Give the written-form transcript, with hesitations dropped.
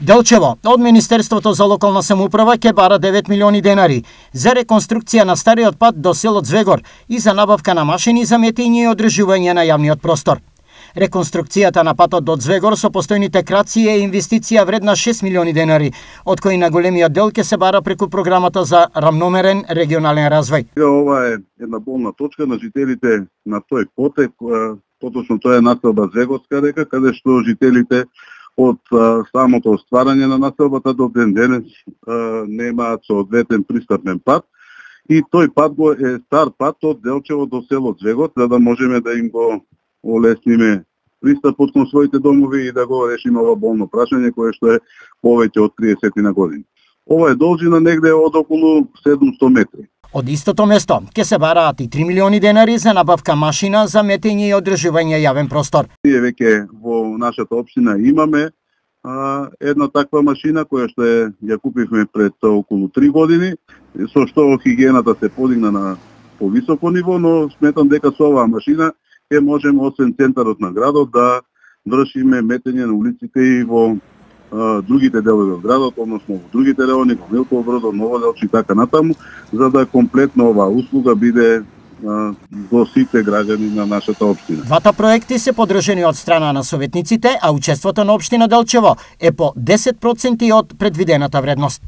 Делчево, од Министерството за локална самоуправа ќе бара 9 милиони денари за реконструкција на стариот пат до село Звегор и за набавка на машини за метење и одржување на јавниот простор. Реконструкцијата на патот до Звегор со постојните краци е инвестиција вредна 6 милиони денари, од кои на големиот дел ќе се бара преку програмата за рамномерен регионален развој. Ова е една болна точка на жителите на тој потек, поточно тоа е населба Звегорска река, каде што жителите од самото стварање на населбата до ден денес немаат соодветен пристапен пат и тој пат го е стар пат од Делчево до село Звегор, за да можеме да им го олесниме пристапот кон своите домови и да го решиме ова болно прашање кое што е повеќе од 30 на години. Ова е должина негде од околу 700 метри. Од истото место ќе се бараат и 3 милиони денари за набавка машина за метење и одржување јавен простор. Ние веќе во нашата општина имаме една таква машина која што ја купивме пред околу 3 години, со што хигиената се подигна на повисоко ниво, но сметам дека со оваа машина ќе можеме освен центарот на градот да вршиме метење на улиците и во другите делови од градот, односно во другите райони, во Милково Брдо, Ново Делче и така натаму, за да комплетно оваа услуга биде до сите граѓани на нашата општина. Двата проекти се поддржани од страна на советниците, а учеството на општина Делчево е по 10% од предвидената вредност.